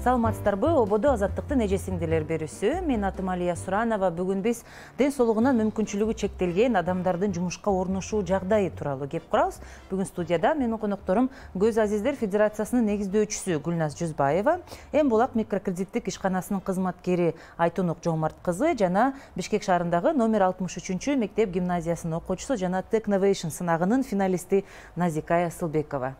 Саламатсыздарбы? Ободо азаттыктын эжесиңдилер берүүсү. Мен атым Алия Суранова. Бүгүн биз ден соолугунан мүмкүнчүлүгү чектелген адамдардын жумушка орношуу жагдайы тууралуу кеп курабыз. Бүгүн студияда менин конокторум Көз Азиздер Федерациясынын негиздөөчүсү Гүлназ Жүзбаева, Эм Булак микрокредиттик ишканасынын кызматкери Айтунук Жомарт кызы жана Бишкек шаарындагы номер 63 мектеп гимназиясынын окуучусу жана Technovation сынагынын финалисти Назикая Асылбекова.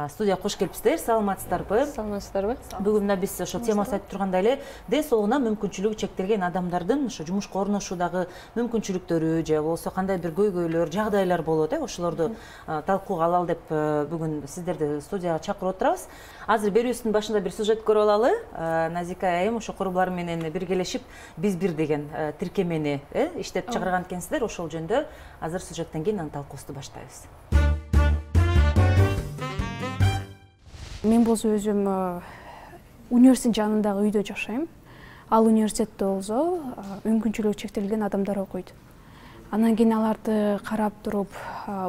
Студия кош келипсиздер. Саламатсыздарбы? Саламатсыздарбы? Бүгүн мына биз ошо темасы айтып тургандай эле ден соолугунан мүмкүнчүлүгү чектелген адамдардын ошо жумушка орношуудагы мүмкүнчүлүктөрү же болбосо кандай бир көйгөйлөр, жагдайлар болот, ошолорду талкууга алалы деп бүгүн сиздерди студияга чакырып отурабыз. Азыр берүүбүздүн башында бир сюжет көрүп алалы. Назика айым ошо курбуларым менен биргелешип биз бир деген тиркемени иштеп чыгарган экенсиздер. Ошол жөнүндө азыр сюжеттен кийин анын талкуусун баштайбыз. Мен болсо өзүм университеттин жанындагы үйдө жашайм. Ал университетте болсо мүмкүнчүлүгү чектелген адамдар окуйт. Анан кийин аларды карап туруп,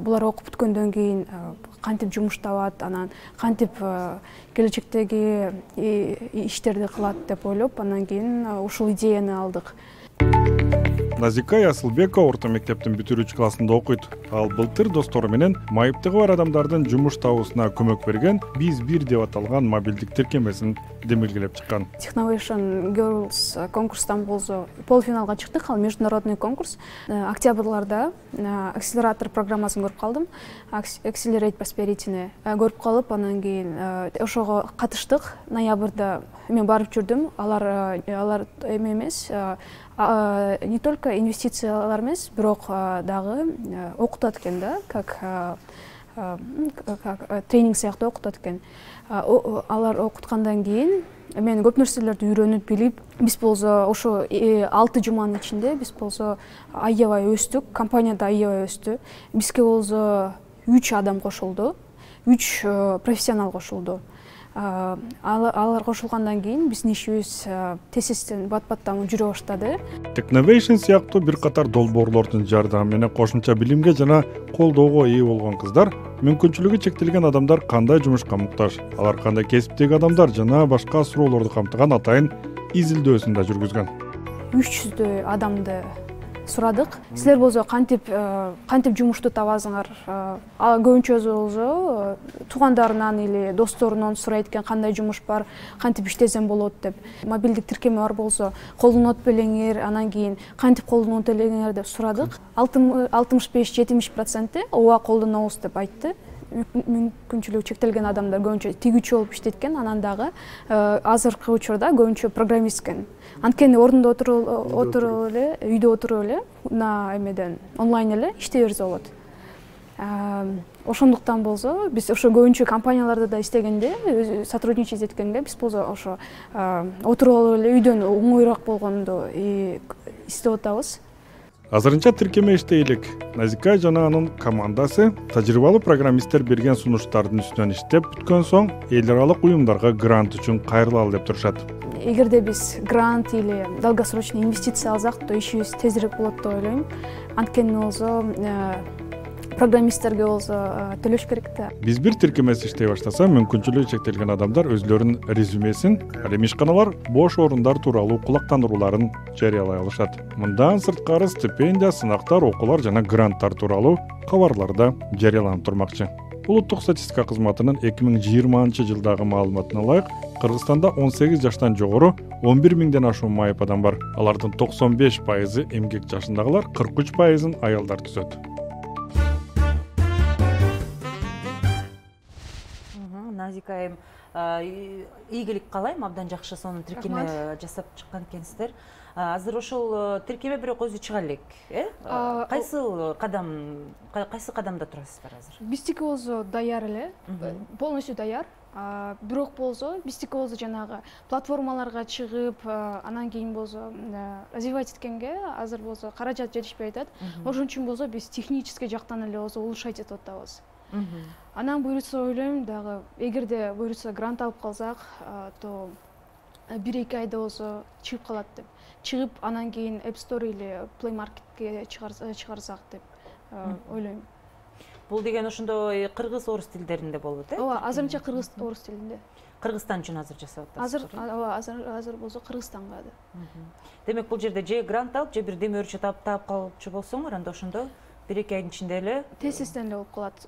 булар окуп бүткөндөн кийин кантип жумуш табат, анан кантип келечектеги иштерди кылат деп ойлоп, анан кийин ушул идеяны алдык. Назикая Асылбекова орто мектептин бүтүрүүчү классында окуйт. Ал былтыр достору менен майыптыгы бар адамдардын жумуш табуусуна көмөк берген Биз бир деп аталган мобилдик тиркемесин демилгелеп чыккан. Technovation Girls конкурстан болсо полуфиналга чыктык. Ал международный конкурс. Октябрларда акселератор программасын көрүп калдым. Accelerate Prosperity-ни көрүп калып, анан кийин ошого катыштык. Ноябрда мен барып жүрдүм. Алар эме эмес, не только инвестициялар эмес, бирок дагы окутат экен да, как тренинг сыяктуу окутат экен. Алар окуткандан кийин мен көп нерселерди үйрөнүп билип, биз болсо ошо 6 жуманын ичинде биз болсо аябай өстүк, компанияда аябай өстү. Бизге болсо 3 адам кошулду, 3 профессионал кошулду. Алар кошулгандан кийин биздин ишибиз тез-тезден бат-баттан жүрө баштады. Technovation сыяктуу бир катар долбоорлордун жардамы менен кошумча билимге жана колдоого ээ болгон кыздар, мүмкүнчүлүгү чектелген адамдар кандай жумушка муктаж, алар кандай кесиптеги адамдар жана башка суроолорду камтыган атайын изилдөөсүн да жүргүзгөн. 300 адамды сурадык. Силер болсо кантип жумушту табасыңар? Көбүнчө болсо туугандарынан или досторунан сурайт экен, кандай жумуш бар, кантип иштесем болот деп. Мобилдик тиркеме бар болсо колдонот белеңер, анан кийин кантип колдонот элеңер деп сурадык. 65-70% ооба колдонобуз деп айтты. Мүмкүнчүлүгү чектелген адамдар көбүнчө тигүүчү болуп иштейт экен, анан дагы азыркы учурда көбүнчө программист экен. Анткени ордунда отуруп эле, үйдө отуруп эле, на эмеден онлайн эле иштей берсе болот. Ошондуктан болсо биз ошо көбүнчө компанияларда да иштегенде, сотрудничать эткенде биз болсо ошо отуруп эле үйдөн оңоюраак болгонду издеп атабыз. Азырынча тиркеме иштей элек. Назика жана анын командасы тажрыйбалуу программисттер берген сунуштардын үстүнөн иштеп бүткөн соң эл аралык уюмдарга грант үчүн кайрылалы деп турушат. Эгерде биз грант или долгосрочный инвестиция алсак, то ишибиз тезирээк болот деп ойлойм. Анткени болсо программисттерге болсо төлөш керек да. Биз бир тиркемеси иштей баштаса, мүмкүнчүлүгү чектелген адамдар өзлөрүнүн резюмесин, ал эми ишканалар бош орундар тууралуу кулактандырууларын жарыялай алышат. Мындан сырткары стипендия, сынактар, окуулар жана гранттар тууралуу кабарлар да жарыяланып турмакчы. Улуттук статистика кызматынын 2020-жылдагы маалыматына ылайык, Кыргызстанда 18 жаштан жогору 11 миңден ашуун майып адам бар. Алардын 95% эмгек жашындагылар, 43% аялдар түзөт. Назика айым, ийгилик каалайм, абдан жакшы сонун тиркеме жасап чыккан экенсиздер. Азыр ошол тиркеме бирок өзү чыга элек, Кайсы кадамда турасыздар азыр? Биздики болсо даяр эле, полностью даяр. Бирок болсо биздики болсо жанагы платформаларга чыгып, анан кийин болсо развивать эткенге азыр болсо каражат жетишпей атат. Ошон үчүн болсо биз технический жактан эле болсо улучшать этип атабыз. Анан буюрса ойлойм дагы, эгерде буюрса грант алып калсак, то 1-2 айда болсо чыгып калат деп. Чыгып анан кийин App Store или Play Marketке чыгарсак деп ойлойм. Бул деген ошондой кыргыз орус тилдеринде болот, Ооба, азырынча кыргыз орус тилинде. Кыргызстан үчүн азыр жасап атасыз. Азыр болсо Кыргызстанга да. Демек бул жерде же грант алып, же бир демөөрчү таап калчу болсоңор, анда ошондо 1-2 айдын ичинде эле тезистен эле болуп калат.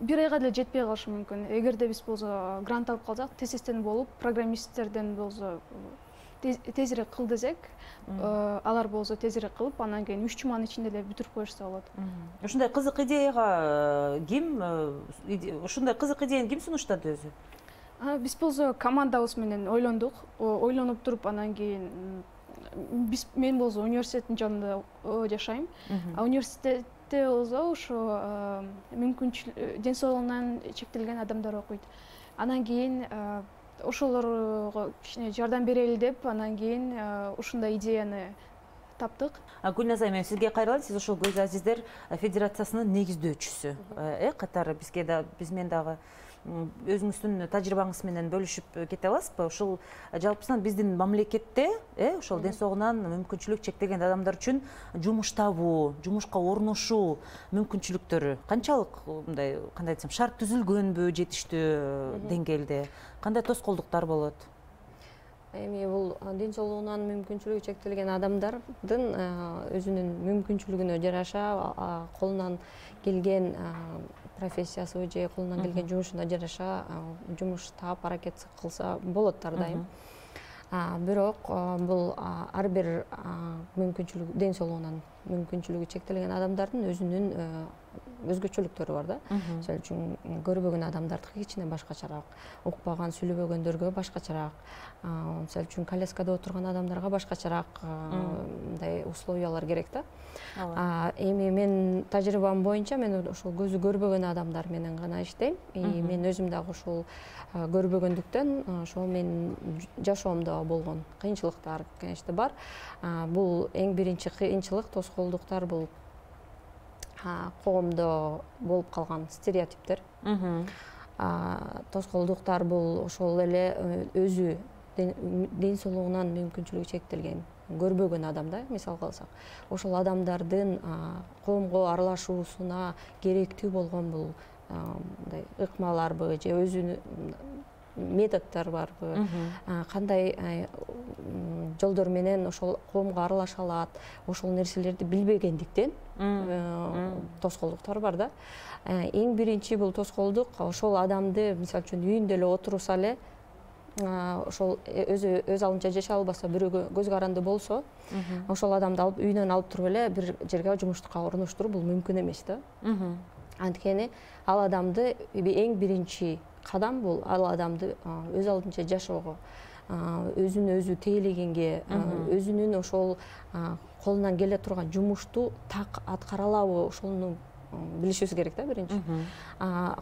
1 айга деле жетпей калышы мүмкүн. Эгерде биз болсо грант алып калсак, тезистен болуп, программисттерден болсо тезирээк кыл десек, алар болсо тезирээк кылып, анан кийин 3 жуманын ичинде эле бүтүрүп коюшса болот. Ушундай кызык идеяга ушундай кызык идеяны ким сунуштады өзү? Биз болсо командабыз менен ойлондук. Ойлонуп туруп, анан кийин мен болсо университеттин жанында жашайм. Университетте болсо ошо ден соолугунан чектелген адамдар окуйт. Анан кийин ошолорго кичине жардам берели деп, анан кийин ушундай идеяны таптык. Гүлназ айым, сизге кайрылайын. Сиз ошол Көз Азиздер Федерациясынын негиздөөчүсү. Катары биз менен дагы өзүңүздүн тажрыйбаңыз менен бөлүшүп кете аласызбы? Ушул жалпысынан биздин мамлекетте ошол ден соолугунан мүмкүнчүлүк чектелген адамдар үчүн жумуш табуу, жумушка орношуу мүмкүнчүлүктөрү канчалык, мындай кандай десем, шарт түзүлгөнбү жетиштүү деңгээлде? Кандай тоскоолдуктар болот? Эми бул ден соолугунан мүмкүнчүлүгү чектелген адамдардын өзүнүн мүмкүнчүлүгүнө жараша, колунан келген профессиясы же колунан келген жумушуна жараша жумуш таап аракет кылса болот ар дайым. Бирок бул ар бир мүмкүнчүлүгү, ден соолугунан мүмкүнчүлүгү чектелген адамдардын өзүнүн өзгөчөлүктөрү бар да. Мисалы үчүн көрбөгөн адамдардыкы кичине башкачараак, укпаган, сүйлөбөгөндөргө башкачараак, мисалы үчүн коляскада отурган адамдарга башкачараак мындай условиялар керек да. Эми мен тажрыйбам боюнча мен ошол көзү көрбөгөн адамдар менен гана иштейм. Мен өзүм дагы ошол көрбөгөндүктөн ошол менин жашоомдо болгон кыйынчылыктар, конечно, бар. Бул эң биринчи кыйынчылык, тоскоолдуктар бул коомдо болуп калган стереотиптер. Тоскоолдуктар бул ошол эле өзү ден соолугунан мүмкүнчүлүгү чектелген, көрбөгөн адам да, мисалга алсак. Ошол адамдардын коомго аралашуусуна керектүү болгон бул мындай ыкмаларбы же өзүнүн методдор барбы, кандай жолдор менен ошол коомго аралаша алат, ошол нерселерди билбегендиктен тоскоолдуктар бар да. Эң биринчи бул тоскоолдук ошол адамды, мисалы үчүн үйүндө эле отурса эле, ошол өз алдынча жашай албаса, бирөөгө көз каранды болсо, ошол адамды алып үйүнөн алып туруп эле бир жерге жумушка орноштуруу бул мүмкүн эмес да. Анткени ал адамды эң биринчи кадам бул ал адамды өз алдынча жашоого, өзүн өзү тейлегенге, өзүнүн ошол колунан келе турган жумушту так аткара алабы, ошону билишибиз керек да биринчи.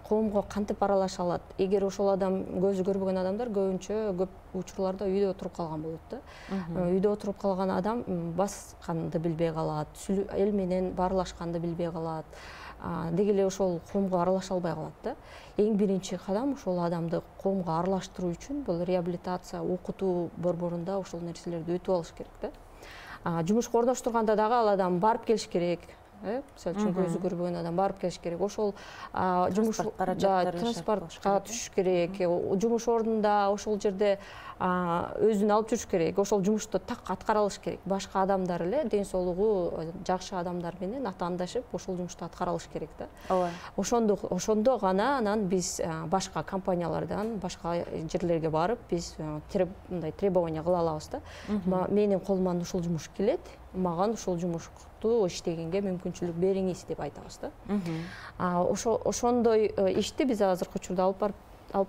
Коомго кантип аралаша алат? Эгер ошол адам көзү көрбөгөн адамдар көбүнчө көп учурларда үйдө отуруп калган болот да. Үйдө отуруп калган адам басканды билбей калат, эл менен баарлашканды билбей калат. Деги эле ошол коомго аралаша албай калат да. Эң биринчи кадам ошол адамды коомго аралаштыруу үчүн бул реабилитация, окутуу борборунда ошол нерселерди өтүп алыш керек да. Жумушка орноштурганда дагы ал адам барып келиш керек. Мисалы үчүн көзү көрбөгөн адам барып келиш керек. Ошол жумуш транспортко түшүш керек. Жумуш ордунда ошол жерде өзүн алып жүрүш керек. Ошол жумушту так аткара алыш керек. Башка адамдар эле, ден соолугу жакшы адамдар менен атаандашып, ошол жумушту аткара алыш керек да. Ошондо гана анан биз башка компаниялардан, башка жерлерге барып, биз мындай требование кыла алабыз да. Менин колуман ушул жумуш келет, маган ушул жумушту иштегенге мүмкүнчүлүк бериңиз деп айтабыз да. Ошондой ишти биз азыркы учурда алып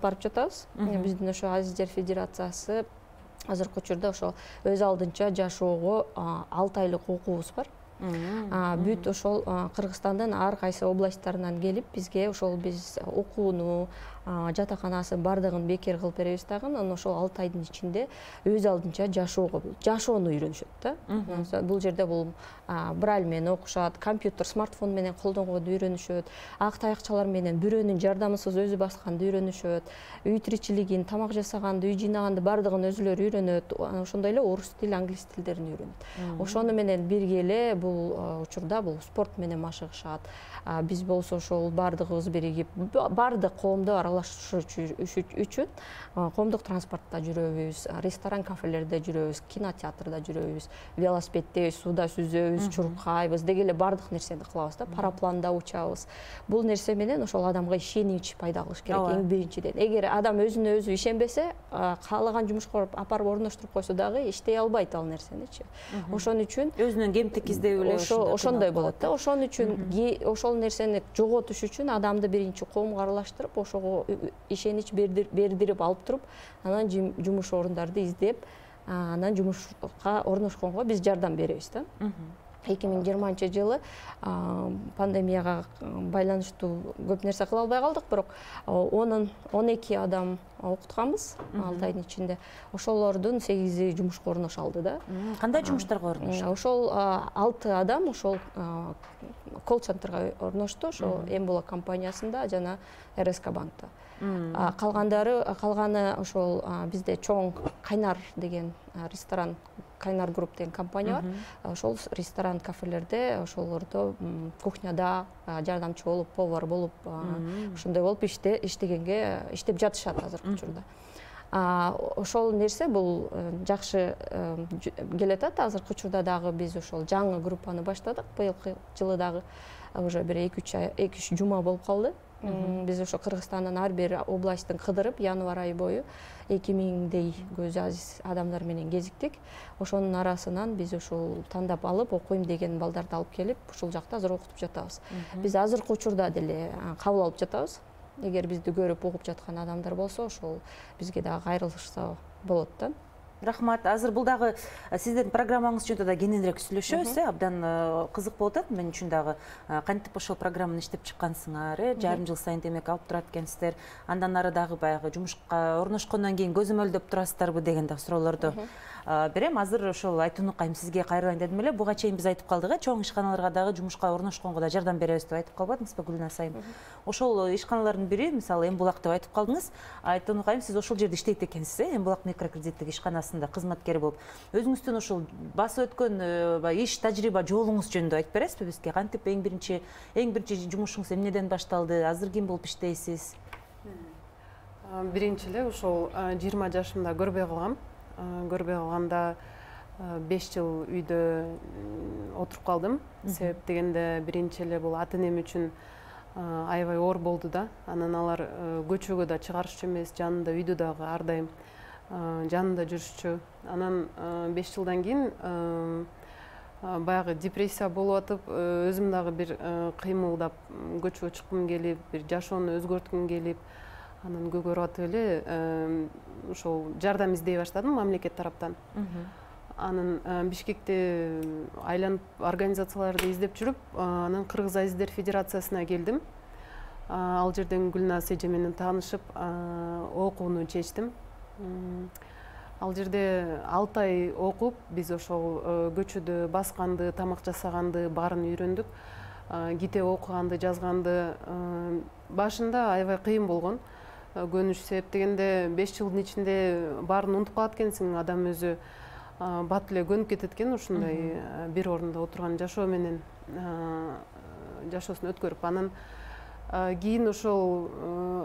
барып жатабыз. Биздин ошо Азиздер Федерациясы азыркы учурда ошо өз алдынча жашоого 6 айлык окуубуз бар. Бүт ошол Кыргызстандын ар кайсы областтарынан келип бизге ошол биз окууну, жатаканасы бардыгын бекер кылып беребиз дагы, анан ошол 6 айдын ичинде өз алдынча жашоону үйрөнүшөт да. Бул жерде бул брайль менен окушат, компьютер, смартфон менен колдонгонду үйрөнүшөт, ак таякчалар менен бирөөнүн жардамысыз өзү басканды үйрөнүшөт, үй тиричилигин, тамак жасаганды, үй жыйнаганды бардыгын өзүлөрү үйрөнөт. Ошондой эле орус тил, англис тилдерин үйрөнөт. Ошону менен бирге эле бул учурда бул спорт менен машыгышат. Биз болсо ошол баардыгыбыз биригип баардык коомду аралашыш үчүн коомдук транспортто жүрөбүз, ресторан, кафелерде жүрөбүз, кинотеатрда жүрөбүз, велосипеддебиз, сууда сүзөбүз, чуркайбыз деги эле баардык нерсени кылабыз да, парапланда учабыз. Бул нерсе менен ошол адамга ишенич пайда кылыш керек эң биринчиден. Эгер адам өзүнө өзү ишенбесе, каалаган жумушка апарып орноштуруп койсо дагы иштей албайт ал нерсеничи. Ошон үчүн өзүнөн кемтик издеп эле ошондой болот да. Ошон үчүн ошол нерсени жоготуш үчүн адамды биринчи коомго аралаштырып, ошого ишенич бердирип алып туруп, анан жумуш орундарды издеп, анан жумушка орношконго биз жардам беребиз да. 2020-жылы пандемияга байланыштуу көп нерсе кыла албай калдык, бирок 12 адам окутканбыз 6 айдын ичинде. Ошолордун 8-и жумушка орношо алды да. Кандай жумуштарга орношту? Ошол 6 адам ошол колл-центрге орношту, ошол Эмбула компаниясында жана РСК банкта. Калганы ошол бизде чоң Кайнар деген ресторан, Кайнар групп деген компания бар. Ошол ресторан, кафелерде, ошолордо кухняда жардамчы болуп, повар болуп, ошондой болуп иштеп жатышат азыркы учурда. Ошол нерсе бул жакшы келатат. Азыркы учурда дагы биз ошол жаңы группаны баштадык. Быйылкы жылы дагы уже бир 2-3 жума болуп калды. Биз ошо Кыргызстандын ар бир областтын кыдырып, январь айы бою 2000дей көз азиз адамдар менен кезиктик. Ошонун арасынан биз ошол тандап алып, окуйм деген балдарды алып келип, ушул жакта азыр окутуп жатабыз. Биз азыркы учурда деле кабыл алып жатабыз. Эгер бизди көрүп угуп жаткан адамдар болсо, ошол бизге дагы кайрылышса болот да. Рахмат. Азыр бул дагы сиздин программаңыз жөнүндө да кененирээк сүйлөшөбүз, абдан кызык болуп атат. Мен үчүн дагы кантип ошол программаны иштеп чыккансыңар, жарым жыл сайын демек алып турат экенсиздер. Андан ары дагы баягы жумушка орношкондон кийин көзөмөлдөп турасыздарбы деген дагы суроолорду берем. Азыр ошол айтууну кайым сизге кайрылайын дедим эле. Буга чейин биз айтып калдык, чоң ишканаларга дагы жумушка орношконго да жардам беребиз деп айтып калбадыңызбы, Гүлназ айым? Ошол ишканалардын бири, мисалы, Эмбулак деп айтып калдыңыз. Айтууну кайым, сиз ошол жерде иштейт экенсиз, Эмбулак микрокредиттик ишканасында кызматкер болуп. Өзүңүздүн ошол басып өткөн иш тажрыйба жолуңуз жөнүндө айтып бересизби бизге? Кантип эң биринчи жумушуңуз эмнеден башталды? Азыр ким болуп иштейсиз? Биринчи эле ошол 20 жашымда көрбөй калгам. Көрбөй калганда 5 жыл үйдө отуруп калдым. Себеп дегенде биринчи эле бул ата-энем үчүн аябай оор болду да. Анан алар көчөгө да чыгарышчу эмес, жанында үйдө дагы ар дайым жанында жүрүшчү. Анан 5 жылдан кийин баягы депрессия болуп атып, өзүм дагы бир кыймылдап көчөгө чыккым келип, бир жашоону өзгөрткүм келип, анан көгөрүп атып эле ошол жардам издей баштадым мамлекет тараптан. Анан Бишкекте айланып организацияларды издеп жүрүп, анан Кыргыз Азиздер Федерациясына келдим. Ал жерден Гүлназ эже менен таанышып, окууну чечтим. Ал жерде 6 ай окуп, биз ошол көчөдө басканды, тамак жасаганды баарын үйрөндүк. Китеп окуганды, жазганды башында аябай кыйын болгон. Көнүш, себеп дегенде 5 жылдын ичинде баарын унутуп калат экенсиң, адам өзү бат эле көнүп кетет экен ушундай бир орунда отурган жашоо менен жашоосун өткөрүп. Анан кийин ошол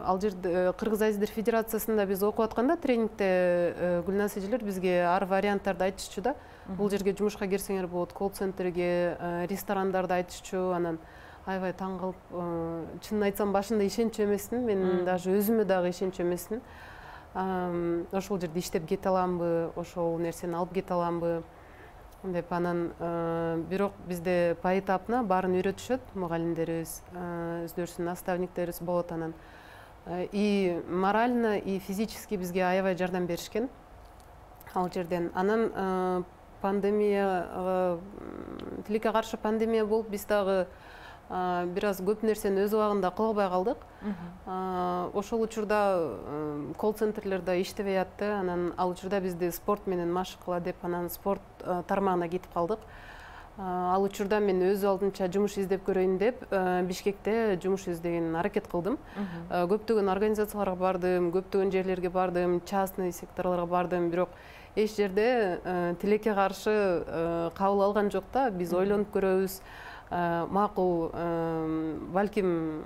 ал жерде Кыргыз Азиздер Федерациясында биз окуп атканда тренингде Гүлназ эжелер бизге ар варианттарды айтышчу да. Бул жерге жумушка кирсеңер болот, колл-центрге, ресторандарды айтышчу. Анан аябай таң калып, чынын айтсам башында ишенчү эмесмин, мен даже өзүмө дагы ишенчү эмесмин. Ошол жерде иштеп кете аламбы, ошол нерсени алып кете аламбы деп. Анан бирок бизде поэтапна баарын үйрөтүшөт, мугалимдерибиз, өздөрүнүн наставниктерибиз болот. Анан и морально, и физически бизге аябай жардам беришкен ал жерден. Анан пандемия, тилекке каршы пандемия болуп, биз дагы бир аз көп нерсени өз убагында кыла албай калдык. Ошол учурда колл-центрлерде иштебей атты. Анан ал учурда бизди спорт менен машык кыла деп, анан спорт тармагына кетип калдык. Ал учурда мен өз алдынча жумуш издеп көрөйүн деп Бишкекте жумуш издеген аракет кылдым. Көптөгөн организацияларга бардым, көптөгөн жерлерге бардым, частный секторлорго бардым, бирок эч жерде тилекке каршы кабыл алган жок да. Биз ойлонуп көрөбүз, макул, балким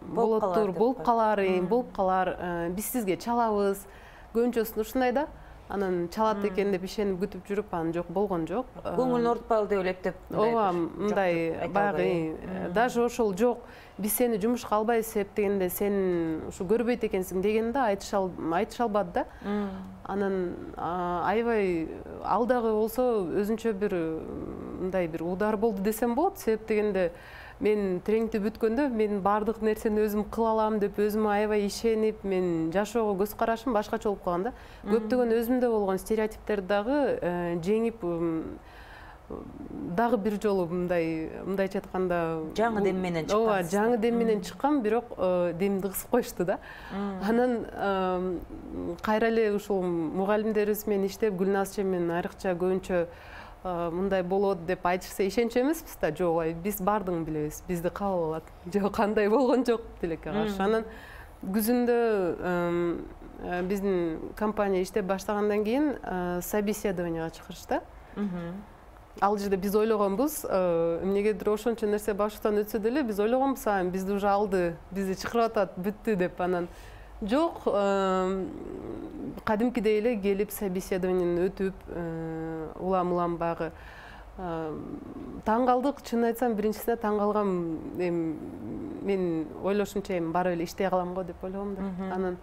болуп калар, биз сизге чалабыз, көбүнчөсү ушундай да. Анан чалат экен деп ишенип күтүп жүрүп, анан жок, болгон жок. Көңүлүн оорутпайлы деп ойлоп ооба, мындай баягы даже ошол жок, биз сени жумушка албайбыз себептегенде сен ушу көрбөйт экенсиң дегенде айтышалбады да. Анан аябай ал дагы болсо өзүнчө бир мындай бир удар болду десем болот, себептегенде мен тренингти бүткөндө мен баардык нерсени өзүм кыла алам деп өзүмө аябай ишенип, мен жашоого көз карашым башкача болуп калган да. Көптөгөн өзүмдө болгон стереотиптерди дагы жеңип, дагы бир жолу мындайча айтканда жаңы дем менен чыккан. Ооба, жаңы дем менен чыккан, бирок демди кысып коюшту да. Анан кайра эле ушул мугалимдерибиз менен иштеп, Гүлназ менен айрыкча көбүнчө мындай болот деп айтышса ишенчү эмеспиз да. Жок, биз баардыгын билебиз, бизди кабыл алат. Жок, кандай болгон жок тилекке каршы. Анан күзүндө биздин компания иштеп баштагандан кийин собеседованияга чакырышты. Ал жерде биз ойлогонбуз, эмнегедир ошончо нерсе башыбыздан өтсө деле, биз ойлогонбуз, бизди уже алды, бизди чакырып атат, бүттү деп. Анан жок, кадимкидей эле келип собеседованияны өтүп, улам багы таң калдык. Чынын айтсам, биринчисине таң калгам, мен ойлошумча барып эле иштей калам го деп ойлогом да. Анан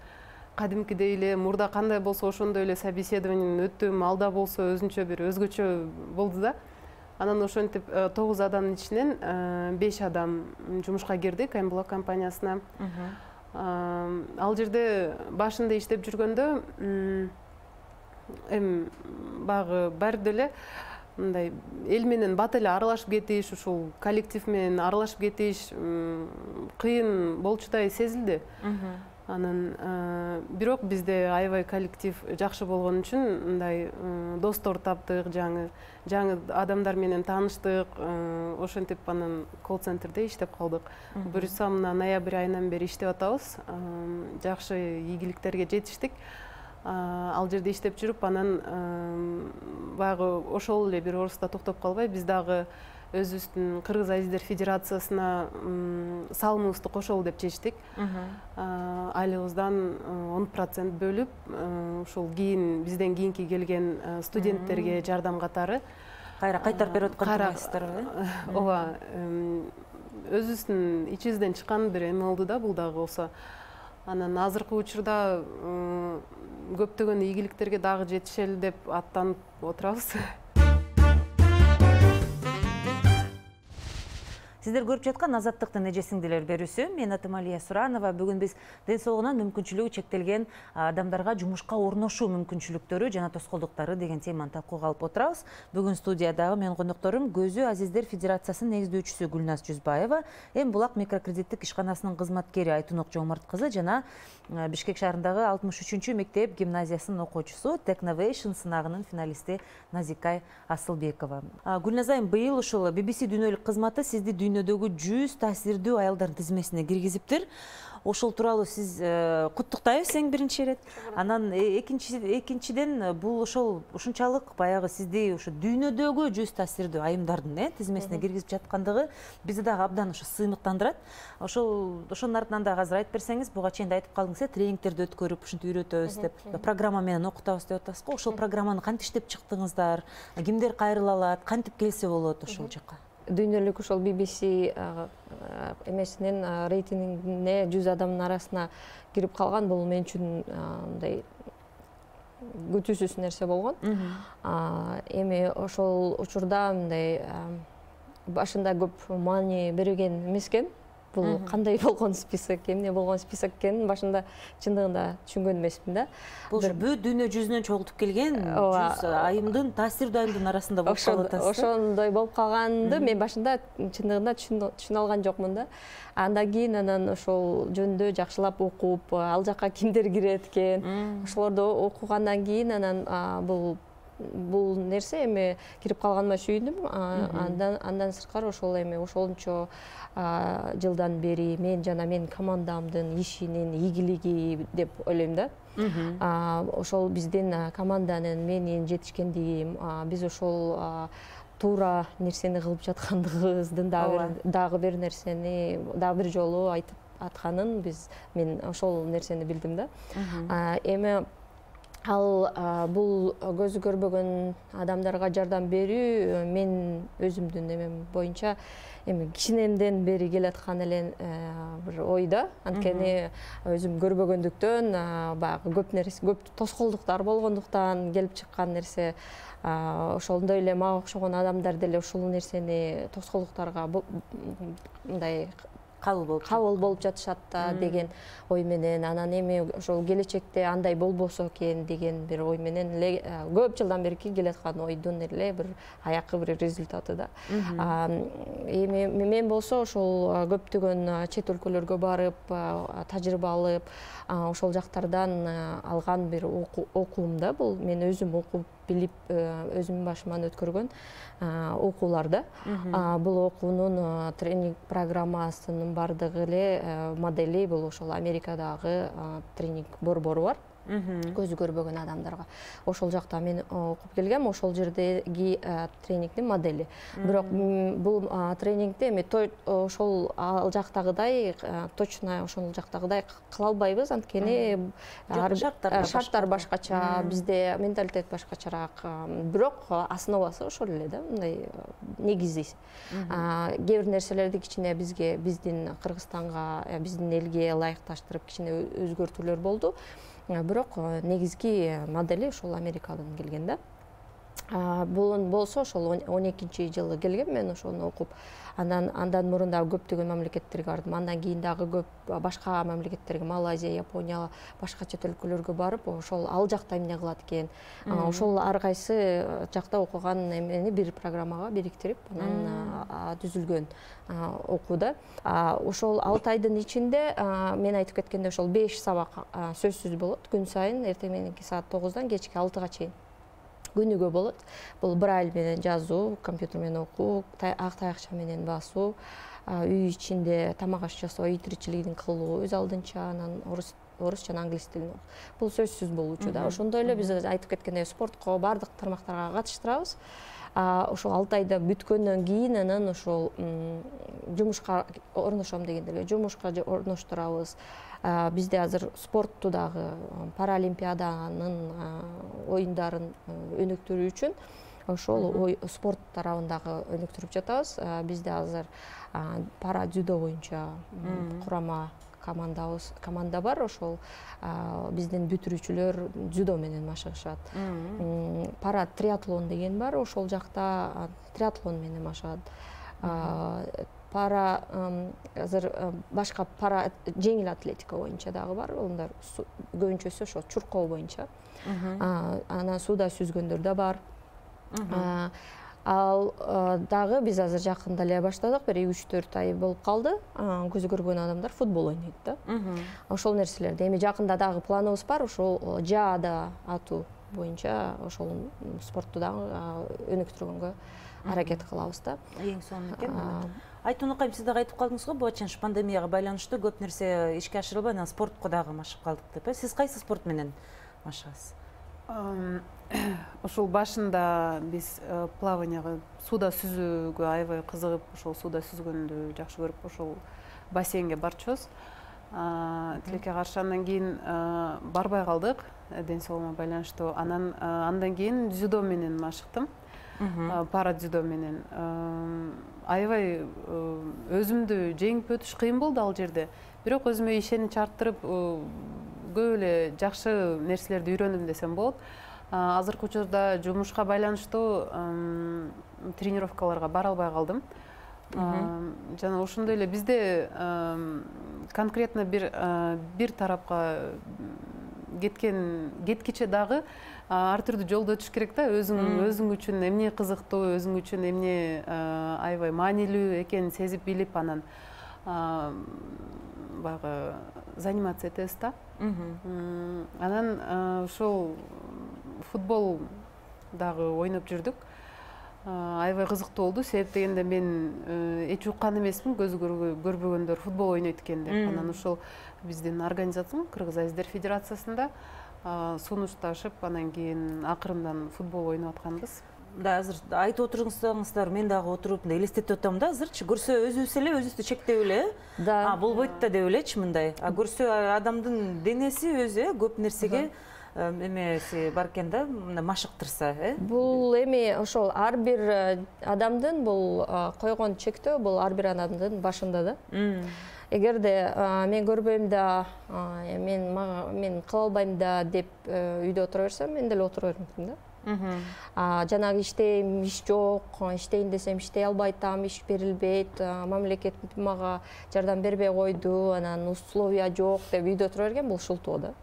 кадимкидей эле мурда кандай болсо ошондой эле собеседованияны өттүм, алда болсо өзүнчө бир өзгөчө болду да. Анан ошентип 9 адамдын ичинен 5 адам жумушка кирдик М-блок компаниясына. Ал жерде башында иштеп жүргөндө багы баары деле мындай эл менен бат эле аралашып кетиш, ушул коллектив менен аралашып кетиш кыйын болчудай сезилди. Анан бирок бизде аябай коллектив жакшы болгон үчүн мындай достор таптык, жаңы адамдар менен тааныштык. Ошентип анан колл-центрде иштеп калдык. Буюрса мына ноябрь айынан бери иштеп атабыз. Жакшы ийгиликтерге жетиштик. Ал жерде иштеп жүрүп, анан баягы ошол эле бир орусда токтоп калбай, биз дагы өзүбүздүн Кыргыз Азиздер Федерациясына салымыбызды кошолу деп чечтик. Айлыгыбыздан 10% бөлүп, ушул кийин бизден кийинки келген студенттерге жардам катары кайра кайтарып берип аткансыздарбы? Ооба, өзүбүздүн ичибизден чыккан бир эме болду да, бул дагы болсо. Анан азыркы учурда көптөгөн ийгиликтерге дагы жетишели деп аттанып отурабыз. Сиздер көрүп жаткан Азаттыктын эже сиңдилер берүүсү. Мен атым Алия Суранова. Бүгүн биз ден соолугунан мүмкүнчүлүгү чектелген адамдарга жумушка орношуу мүмкүнчүлүктөрү жана тоскоолдуктары деген теманы талкууга алып отурабыз. Бүгүн студиядагы менин конокторум Көзү Азиздер Федерациясынын негиздөөчүсү Гүлназ Жүзбаева, М-булак микрокредиттик ишканасынын кызматкери Айтунок Жомарт кызы жана Бишкек шаарындагы 63-чү мектеп гимназиясынын окуучусу, Technovation сынагынын финалисти Назикай Асылбекова. Гүлназ айым, быйыл ушул BBC дүйнөлүк кызматы сизди дүйнөдөгү 100 таасирдүү аялдардын тизмесине киргизиптир. Ошол тууралуу сиз куттуктайбыз эң биринчи ирет. Анан экинчиден бул ушунчалык баягы сизди ушу дүйнөдөгү 100 таасирдүү айымдардын тизмесине киргизип жаткандыгы бизди дагы абдан ушу сыймыктандырат. Ошонун артынан дагы азыр айтып берсеңиз, буга чейин да айтып калдыңыз, тренингтерди өткөрүп, ушинтип үйрөтөбүз деп, программа менен окутабыз деп атасыз го. Ошол программаны кантип иштеп чыктыңыздар? Кимдер кайрыла алат? Кантип келсе болот ошол жака? Дүйнөлүк ошол BBC эмесинин рейтингине 100 адамдын арасына кирип калган, бул мен үчүн мындай күтүүсүз нерсе болгон. Эми ошол учурда мындай башында көп маани берген эмескен. Бул кандай болгон список, эмне болгон список экенин башында чындыгында түшүнгөн эмесмин да. Бул бүт дүйнө жүзүнөн чогултуп келген 100 айымдын, таасирдүү айымдын арасында болуп калып атасыз. Ошондой болуп калганды мен башында чындыгында түшүнө алган жокмун да. Андан кийин ошол жөнүндө жакшылап окуп, ал жака кимдер кирет экен, ошолорду окугандан кийин бул бул нерсе эми кирип калганыма сүйүндүм. Андан сырткары ошол эми ошончо жылдан бери мен жана менин командамдын ишинин ийгилиги деп ойлойм да. Ошол биздин команданын менин жетишкендигим, биз ошол туура нерсени кылып жаткандыгыбыздын дагы бир нерсени дагы бир жолу айтып атканын мен ошол нерсени билдим да. Эми ал бул көзү көрбөгөн адамдарга жардам берүү мен өзүмдүн эмем боюнча эми кичинемден бери келаткан эле бир ой да. Анткени өзүм көрбөгөндүктөн баягы көп тоскоолдуктар болгондуктан келип чыккан нерсе. Ошондой эле мага окшогон адамдар деле ушул нерсени тоскоолдуктарга мындай кабыл болуп жатышат да деген ой менен, анан эми ошол келечекте андай болбосо экен деген бир ой менен эле көп жылдан берки келаткан ойдун эле бир аяккы бир результаты да. Эми мен болсо ошол көптөгөн чет өлкөлөргө барып, тажрыйба алып, ошол жактардан алган бир окуум да. Бул мен өзүм окуп билип өзүмдүн башыман өткөргөн окуулар да. Бул окуунун тренинг программасынын бардыгы эле модели бул ошол Америкадагы тренинг борбору бар. Көзү көрбөгөн адамдарга. Ошол жакта мен окуп келгем, ошол жердеги тренингдин модели. Бирок бул тренингди эми ошол ал жактагыдай точно ошол жактагыдай кыла албайбыз, анткени шарттар башкача, бизде менталитет башкачараак. Бирок основасы ошол эле да, мындай негизи. Кээ бир нерселерди кичине биздин Кыргызстанга, биздин элге ылайыкташтырып кичине өзгөртүүлөр болду. Бирок негизги модели ошол Америкадан келген да. Бул болсо ошол 12-жылы келгем мен ошону окуп. Андан мурун дагы көптөгөн мамлекеттерге бардым. Андан кийин дагы көп башка мамлекеттерге, Малайзия, Япония, башка чет өлкөлөргө барып, ошол ал жакта эмне кылат экен. Ошол ар кайсы жакта окуган эмени бир программага бириктирип, анан түзүлгөн окууда. Ошол 6 айдын ичинде мен айтып кеткендей ошол 5 сабак сөзсүз болот. Күн сайын эртең мененки саат 9-дан кечки 6-га чейин. Күнүгө болот. Бул брайль менен жазуу, компьютер менен окуу, ак таякча менен басуу, үй ичинде тамак аш жасоо, үй тиричилигин кылуу, өз алдынча, анан орус жана англис тилин. Бул сөзсүз болуучу да. Ошондой эле биз айтып кеткендей спортко бардык тармактарга катыштырабыз. Ошол 6 айда бүткөндөн кийин анан ошол жумушка орношом дегенде эле жумушка орноштурабыз. Бизде азыр спортту дагы паралимпиаданын оюндарын өнүктүрүү үчүн ошол спорт тарабын дагы өнүктүрүп жатабыз. Бизде азыр пара дзюдо боюнча курама команда бар. Ошол биздин бүтүрүүчүлөр дзюдо менен машыгышат. Пара триатлон деген бар. Ошол жакта триатлон менен машыгат. Пара азыр башка пара жеңил атлетика боюнча дагы бар. Олар көбүнчөсү ошо чуркоо боюнча. Анан сууда сүзгөндөр да бар. Ал дагы биз азыр жакында эле баштадык, бир 3-4 ай болуп калды. Көзү көргөн адамдар футбол ойнойт да. Ошол нерселерди эми жакында дагы планыбыз бар, ошол жаада атуу боюнча ошол спортту дагы өнүктүргөнгө аракет кылабыз да. Эң сонун экен. Айтунукайым, сиз дагы айтып калдыңыз го, бул пандемияга байланыштуу көп нерсе ишке ашырылбай, анан спортко дагы машыгып калдык деп. Сиз кайсы спорт менен машыгасыз? Ошол башында биз плаванияга, сууда сүзүүгө аябай кызыгып, ошол сууда сүзгөндү жакшы көрүп, ошол бассейнге барчубуз. Тилекке каршы андан кийин барбай калдык, ден соолугума байланыштуу. Андан кийин дзюдо менен машыктым. Пара дзюдо менен. Аябай өзүмдү жеңип өтүш кыйын болду ал жерде. Бирок өзүмө ишенич арттырып, көп эле жакшы нерселерди үйрөндүм десем болот. Азыркы учурда жумушка байланыштуу тренировкаларга бара албай калдым. Жана ошондой эле бизде конкретно бир тарапка кеткиче дагы ар түрдүү жолдо өтүш керек да. Өзүң үчүн эмне кызыктуу, өзүң үчүн эмне аябай маанилүү экенин сезип билип, анан баягы заниматься этебиз да. Анан ошол футбол дагы ойноп жүрдүк. Аябай кызыктуу болду. Себеп дегенде мен эч уккан эмесмин көзү көрбөгөндөр футбол ойнойт экен деп. Анан ошол биздин организациянын Кыргыз Азиздер Федерациясында сунушташып, анан кийин акырындан футбол ойноп атканбыз. Да, азыр айтып отурсаңыздар, мен дагы отуруп элестетип атам да, азырчы көрсө өзүбүз эле өзүбүздү чектеп эле, Да. Болбойт да деп элечи мындай. Көрсө адамдын денеси өзү көп нерсеге эмеси бар экен да, машыктырса, Бул эми ошол ар бир адамдын бул койгон чектөө бул ар бир адамдын башында да. Эгерде мен көрбөйм да, мен кыла албайм да деп үйдө отура берсем, мен деле отура бермекмин да. Жанагы иштейм, иш жок, иштейин десем иштей албай атам, иш берилбейт, мамлекет мага жардам бербей койду, анан условия жок деп үйдө отура берген бул шултоо да.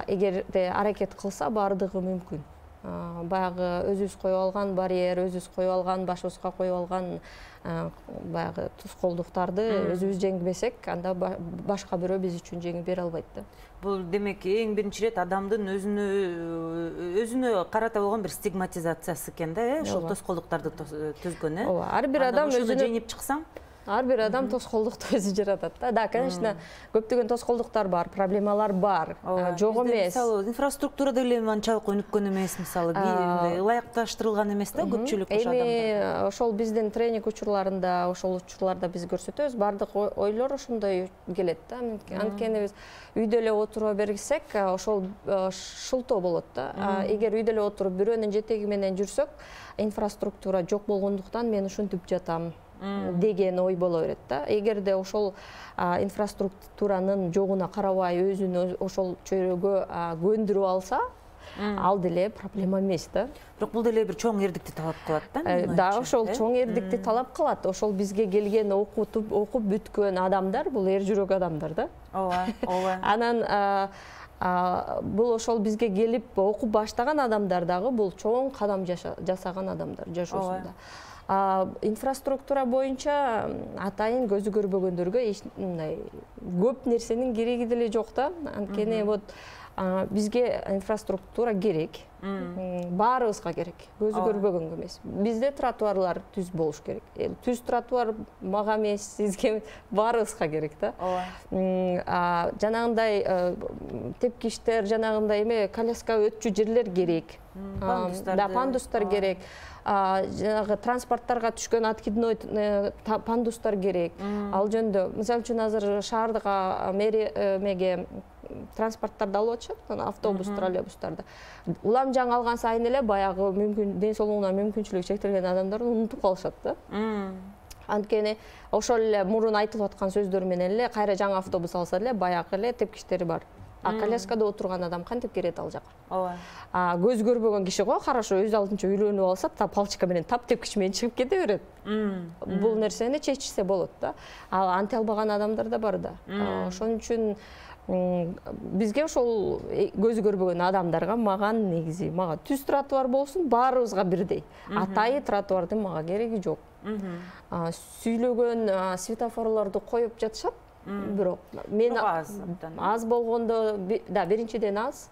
Эгерде аракет кылса баардыгы мүмкүн. Баягы өзүбүз коюп алган барьер, өзүбүз коюп алган, башыбызга коюп алган баягы тоскоолдуктарды өзүбүз жеңбесек, анда башка бирөө биз үчүн жеңип бере албайт да. Бул демек эң биринчи ирет адамдын өзүнө карата болгон бир стигматизациясы экен да, ошол тоскоолдуктарды түзгөн, Ооба, ар бир адам өзүнө жеңип чыксаң, ар бир адам тоскоолдукту өзү жаратат да. Да, конечно, көптөгөн тоскоолдуктар бар, проблемалар бар, жок эмес. Мисалы, инфраструктура деле анчалык өнүккөн эмес, мисалы, ылайыкташтырылган эмес да көпчүлүк ошо адамдар. Эми ошол биздин тренинг учурларында, ошол учурларда биз көрсөтөбүз, баардык ойлор ошондой келет да. Анткени биз үйдө эле отура берсек, ошол шылтоо болот да. Эгер үйдө эле отуруп бирөөнүн жетеги менен жүрсөк, инфраструктура жок болгондуктан мен ушинтип жатам деген ой боло берет да. Эгерде ошол инфраструктуранын жогуна карабай өзүн ошол чөйрөгө көндүрүп алса, ал деле проблема эмес да. Бирок бул деле бир чоң эрдикти талап кылат да. Да, ошол чоң эрдикти талап кылат. Ошол бизге келген окуп бүткөн адамдар, бул эр жүрөк адамдар да. Ооба. Анан бул ошол бизге келип окуп баштаган адамдар дагы бул чоң кадам жасаган адамдар жашоосунда. Инфраструктура боюнча атайын көзү көрбөгөндөргө мындай көп нерсенин кереги деле жок да. Анткени вот бизге инфраструктура керек. Баарыбызга керек. Көзү көрбөгөнгө эмес. Бизде тротуарлар түз болуш керек. Түз тротуар мага эмес, сизге, баарыбызга керек да. Жанагындай тепкичтер, жанагындай эме коляска өтчү жерлер керек. Пандустар керек. Жанагы транспорттарга түшкөн откидной пандустар керек. Ал жөндө, мисалы үчүн азыр шаардык мэрия транспорттарды алып атышат, автобус, троллейбустарды. Улам жаңы алган сайын эле баягы ден соолугуна мүмкүнчүлүгү чектелген адамдарды унутуп калышат да. Анткени ошол эле мурун айтылып аткан сөздөр менен эле кайра жаңы автобус алса эле баягы эле тепкичтери бар. Коляскада отурган адам кантип келет ал жака? Ооба. Көз көрбөгөн киши го, карашо өз алдынча үйлөнүп алса, палчика менен тепкич менен чыгып кете берет. Бул нерсени чечсе болот да. Анте албаган адамдар да бар да. Ошон үчүн бизге ошол көзү көрбөгөн адамдарга мага түз тротуар болсун, баарыбызга бирдей. Атайы тротуардын мага кереги жок. Сүйлөгөн светофорлорду коюп жатышат. Бирок мен аз болгондо, да, биринчиден аз.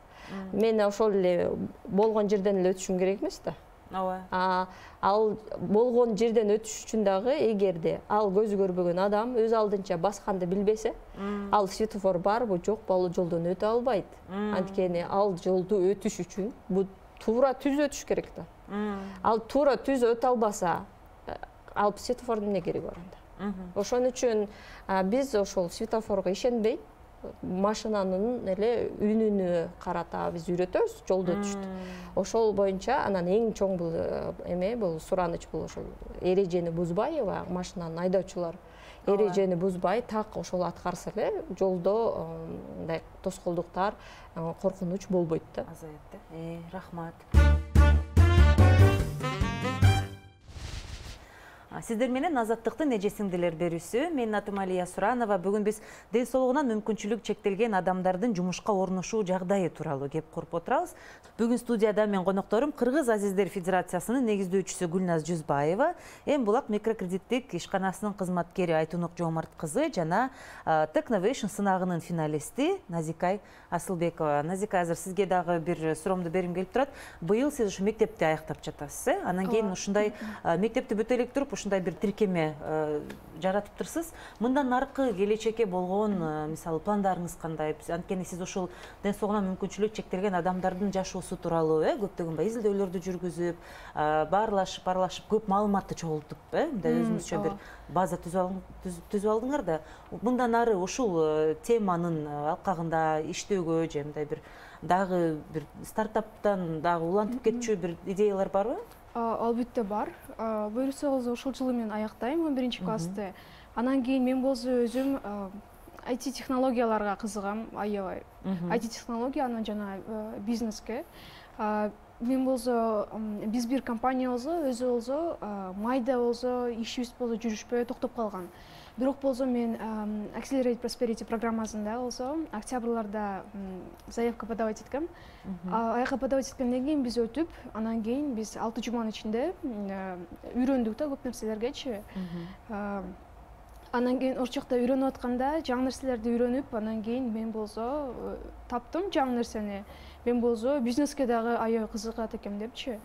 Мен ошол эле болгон жерден эле өтүшүм керек эмес да. Ооба. Ал болгон жерден өтүш үчүн дагы эгерде ал көзү көрбөгөн адам өз алдынча басканды билбесе, ал светофор барбы, жокпу, ал жолдон өтө албайт. Анткени ал жолду өтүш үчүн бул туура түз өтүш керек да. Ал туура түз өтө албаса, ал светофордун эмне кереги бар анда? Ошон үчүн биз ошол светофорго ишенбей, машинанын эле үнүнө карата биз үйрөтөбүз жолдо өтүштү. Ошол боюнча анан эң чоң бул бул сураныч бул ошол эрежени бузбай, машинанын айдоочулар эрежени бузбай так ошол аткарса эле жолдо мындай тоскоолдуктар, коркунуч болбойт да. Азаят да. Рахмат. Сиздер менен Азаттыктын эже сиңдилер берүүсү. Менин атым Алия Суранова. Бүгүн биз ден соолугунан мүмкүнчүлүк чектелген адамдардын жумушка орношуу жагдайы тууралуу кеп куруп отурабыз. Бүгүн студияда мен конокторум Кыргыз Азиздер Федерациясынын негиздөөчүсү Гүлназ Жүзбаева, Эм Булак микрокредиттик ишканасынын кызматкери Айтунук Жоомарт кызы жана Technovation сынагынын финалисти Назикай Асылбекова. Назикай, азыр сизге дагы бир суроомду берим келип турат. Быйыл сиз ушу мектепти аяктап жатасыз, Анан кийин ушундай мектепти бүтө элек туруп ушундай бир тиркеме жаратыптырсыз. Мындан аркы келечекке болгон мисалы пландарыңыз кандай? Анткени сиз ушул ден соолугуна мүмкүнчүлүк чектелген адамдардын жашоосу тууралуу көптөгөн изилдөөлөрдү жүргүзүп, баарлашып көп маалыматты чогултуп, мындай өзүңүзчө бир база түзүп алдыңар да. Мындан ары ушул теманын алкагында иштөөгө же мындай бир дагы бир стартаптан дагы улантып кетчү бир идеялар барбы? Албетте бар. Буюрсаңыз ушул жылы мен аяктайм 11 классты. Анан кийин мен болсо өзүм IT технологияларга кызыгам, аябай. IT технология анан жана бизнеске. Мен болсо биз бир компания болсо өзү болсо майда болсо ишибиз болсо жүрүшпөй токтоп калган. Бирок болсо мен Accelerate Prosperity программасында болсо октябрларда заявка подавать эткем. Аяка подавать эткенден кийин биз өтүп, анан кийин биз 6 жуманын ичинде үйрөндүк да көп нерселергечи. Анан кийин ошол жакта үйрөнүп атканда жаңы нерселерди үйрөнүп, анан кийин мен болсо таптым жаңы нерсени. Мен болсо бизнеске дагы аябай кызыгат экем депчи.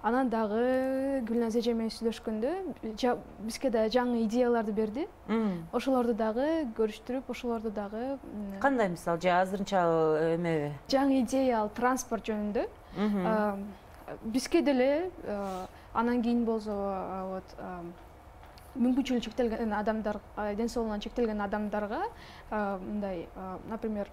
Анан дагы Гүлназ эже менен сүйлөшкөндө бизге да жаңы идеяларды берди. Ошолорду дагы көрүштүрүп, ошолорду дагы кандай мисал же азырынча эмеби? Жаңы идея ал транспорт жөнүндө. Бизге деле анан кийин болсо вот мүмкүнчүлүгү чектелген адамдар, ден соолугунан чектелген адамдарга мындай, например,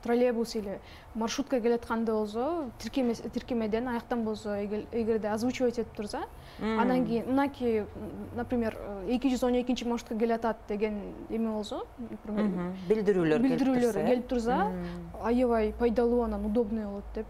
троллейбус или маршрутка келатканда болсо, тиркемеден аяктан болсо, эгерде озвучивать этип турса, анан кийин мынакей, например, 212 маршрутка келатат деген эме болсо, например, билдирүүлөр келип турса, аябай пайдалуу, анан удобный болот деп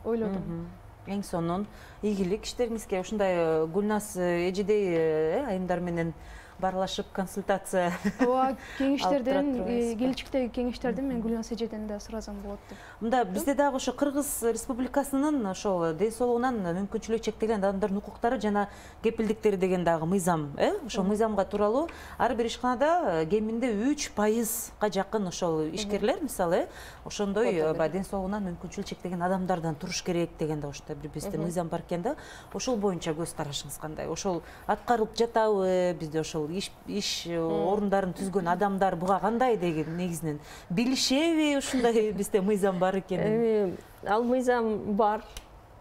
ойлодум. Эң сонун ийгилик иштериңизге ушундай Гүлназ эжедей айымдар менен баарлашып консультация. Ооба, кеңештерден, келечектеги кеңештерден мен Гүлназ эжеден да сурасам болот деп. Мында бизде дагы ошо Кыргыз Республикасынын ошол ден соолугунан мүмкүнчүлүгү чектелген адамдардын укуктары жана кепилдиктери деген дагы мыйзам, ошол мыйзамга тууралуу ар бир ишканада кеминде 3%га жакын ошол ишкерлер, мисалы, ошондой ден соолугунан мүмкүнчүлүгү чектелген адамдардан туруш керек деген да ошондой бир бизде мыйзам бар экен да. Ошол боюнча көз карашыңыз кандай? Ошол аткарылып жатабы? Бизде ошол иш орундарын түзгөн адамдар буга кандай деген негизинен билишеби ушундай бизде мыйзам бар экенин? Ал мыйзам бар.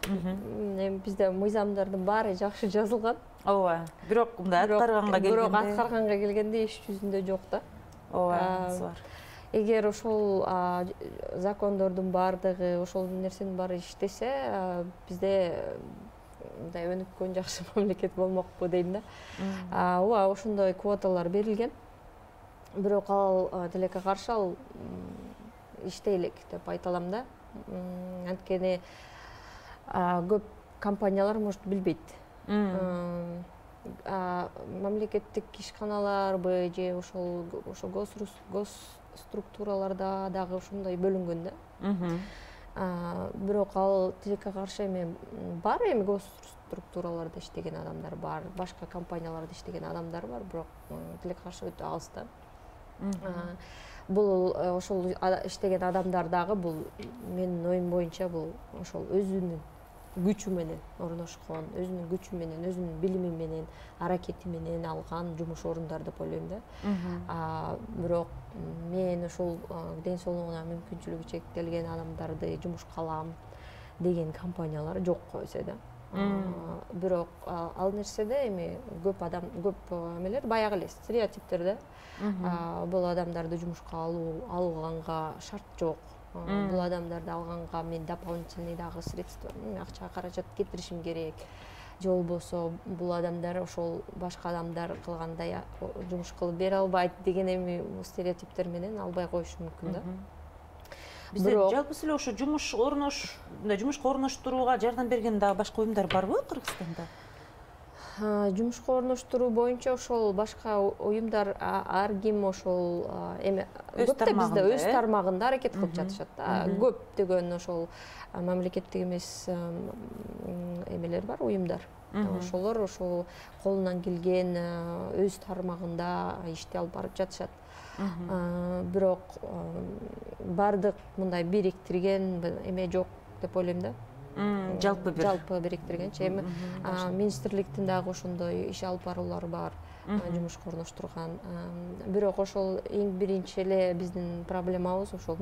Бизде мыйзамдардын баары жакшы жазылган. Ооба. Бирок мындай аткарганга келгенде иш жүзүндө жок да. Ооба, бар. Эгер ошол закондордун баардыгы, ошол нерсенин баары иштесе, бизде мындай өнүккөн жакшы мамлекет болмокпу дейм да. Ооба, ошондой квоталар берилген. Бирок ал тилекке каршы ал иштей элек деп айта алам да. Анткени көп компаниялар может билбейт. Мамлекеттик ишканаларбы же ошол госструктураларда дагы ошондой бөлүнгөн да. Бирок ал тилекке каршы эми бар, эми госструктураларда иштеген адамдар бар, башка компанияларда иштеген адамдар бар, бирок тилекке каршы өтө алыс да. Бул ошол иштеген адамдар дагы бул менин оюм боюнча бул ошол өзүнүн күчү менен орношкон, өзүнүн күчү менен, өзүнүн билими менен, аракети менен алган жумуш орундар деп ойлойм да. Бирок мен ошол ден соолугуна мүмкүнчүлүгү чектелген адамдарды жумушка алам деген компаниялар жок койсо да. Бирок ал нерседе эми көп эмелер баягы эле стереотиптер да. Бул адамдарды жумушка алганга шарт жок. Бул адамдарды алганга мен дополнительный дагы средства, акча каражат кетиришим керек. Же болбосо бул адамдар ошол башка адамдар кылгандай жумуш кылып бере албайт деген эми стереотиптер менен албай коюшу мүмкүн да. Бизде жалпы эле ошо жумушка орноштурууга жардам берген дагы башка уюмдар барбы Кыргызстанда? жумушка орноштуруу боюнча ошол башка уюмдар ар ким ошол эме көптө бизде өз тармагында аракет кылып жатышат да. Көптөгөн ошол мамлекеттик эмес эмелер бар, уюмдар. Ошолор ошол колунан келген өз тармагында ишти алып барып жатышат. Бирок бардык мындай бириктирген эме жок деп ойлойм да. Жалпы бириктиргенчи эми министрликтин дагы ошондой иш алып баруулары бар, жумушка орноштурган. Бирок ошол эң биринчи эле биздин проблемабыз ошол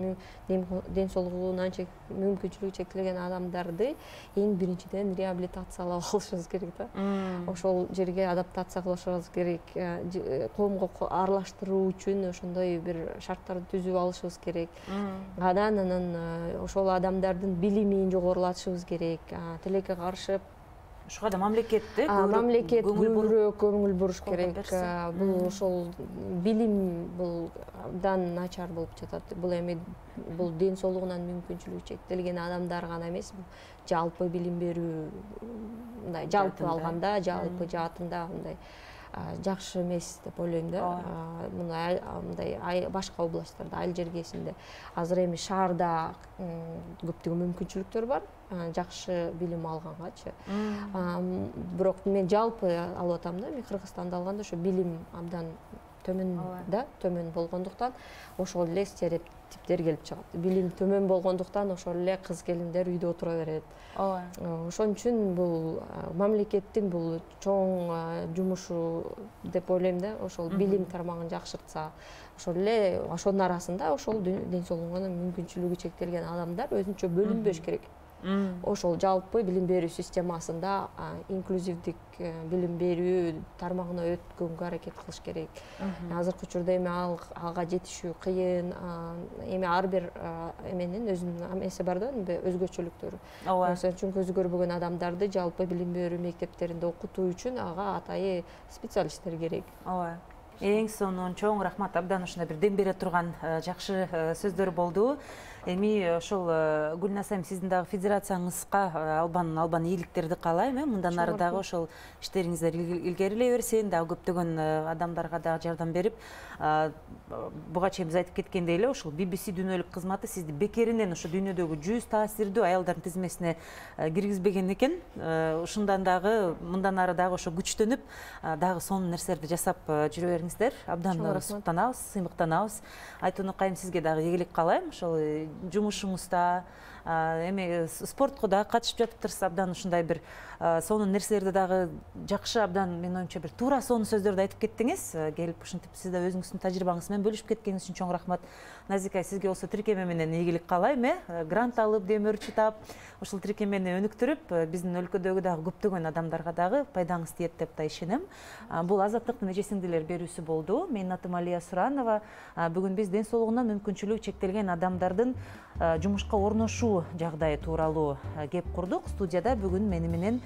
ден соолугунан мүмкүнчүлүгү чектелген адамдарды эң биринчиден реабилитациялап алышыбыз керек да. Ошол жерге адаптация кылышыбыз керек, коомго аралаштыруу үчүн ошондой бир шарттарды түзүп алышыбыз керек. Анан ошол адамдардын билимин жогорулатышыбыз керек, тилекке каршы ушуга да мамлекет көбүрөөк көңүл буруш керек. Бул ошол билим бул абдан начар болуп жатат. Бул эми бул ден соолугунан мүмкүнчүлүгү чектелген адамдар гана эмес, бул жалпы билим берүү, мындай жалпы алганда, жалпы жаатында мындай жакшы эмес деп ойлойм да. Мындай башка областтарда, айыл жергесинде азыр эми шаарда көптөгөн мүмкүнчүлүктөр бар, жакшы билим алгангачы. Бирок мен жалпы алып атам да, мен Кыргызстанды алганда ошо билим абдан төмөн болгондуктан ошол эле стереотиптер келип чыгат. Билим төмөн болгондуктан ошол эле кыз келиндер үйдө отура берет. Ошон үчүн бул мамлекеттин бул чоң жумушу деп ойлойм да. Ошол билим тармагын жакшыртса, ошол эле ошонун арасында ошол ден соолугуна мүмкүнчүлүгү чектелген адамдар өзүнчө бөлүнбөш керек. Ошол жалпы билим берүү системасында инклюзивдик билим берүү тармагына өткөнгө аракет кылыш керек. Азыркы учурда эми ага жетишүү кыйын. Эми ар бир эменин өзүнүн эмеси бар да, өзгөчөлүктөрү. Ошон үчүн көзү көрбөгөн адамдарды жалпы билим берүү мектептеринде окутуу үчүн ага атайын специалисттер керек. Эң сонун чоң рахмат, абдан ушундай бир дем бере турган жакшы сөздөр болду. Эми ошол Гүлназ айым, сиздин дагы федерацияңызга албан ийгиликтерди каалайм. Мындан ары дагы ошол иштериңиздер илгерилей берсин, дагы көптөгөн адамдарга дагы жардам берип, буга чейин биз айтып кеткендей эле ошол BBC дүйнөлүк кызматы сизди бекеринен ошо дүйнөдөгү 100 таасирдүү аялдардын тизмесине киргизбеген экен. Ушундан дагы мындан ары дагы ошо күчтөнүп, дагы сонун нерселерди жасап жүрө бериңиздер. Абдан суктанабыз, сыймыктанабыз. Айтууну кайым, сизге дагы ийгилик каалайм. Ошол жумушуңузда эми спортко дагы катышып жатыптырсыз, абдан ушундай бир сонун нерселерди дагы жакшы, абдан менин оюмча бир туура сонун сөздөрдү айтып кеттиңиз. Келип ушинтип сиз да өзүңүздүн тажрыйбаңыз менен бөлүшүп кеткениңиз үчүн чоң рахмат. Назика, сизге болсо тиркеме менен ийгилик каалайм, грант алып, демөөрчү таап, ушул тиркемени өнүктүрүп, биздин өлкөдөгү дагы көптөгөн адамдарга дагы пайдаңыз тиет деп да ишенем. Бул Азаттыктын эже-сиңдилер берүүсү болду. Менин атым Алия Суранова. Бүгүн биз ден соолугунан мүмкүнчүлүгү чектелген адамдардын жумушка орношуу жагдайы тууралуу кеп курдук. Студияда бүгүн мени менен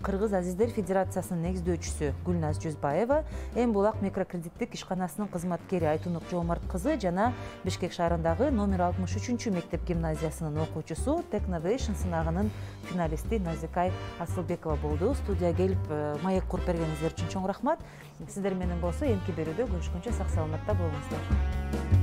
Кыргыз Азиздер Федерациясынын негиздөөчүсү Гүлназ Жүзбаева, Эм Булак микрокредиттик ишканасынын кызматкери Айтунук Жоомарт кызы жана Бишкек шаарындагы номер 63 мектеп гимназиясынын окуучусу, Technovation сынагынын финалисти Назикай Асылбекова болду. Студияга келип маек куруп бергениңиздер үчүн чоң рахмат. Сиздер менен болсо эмки берүүдө көрүшкөнчө сак саламатта болуңуздар.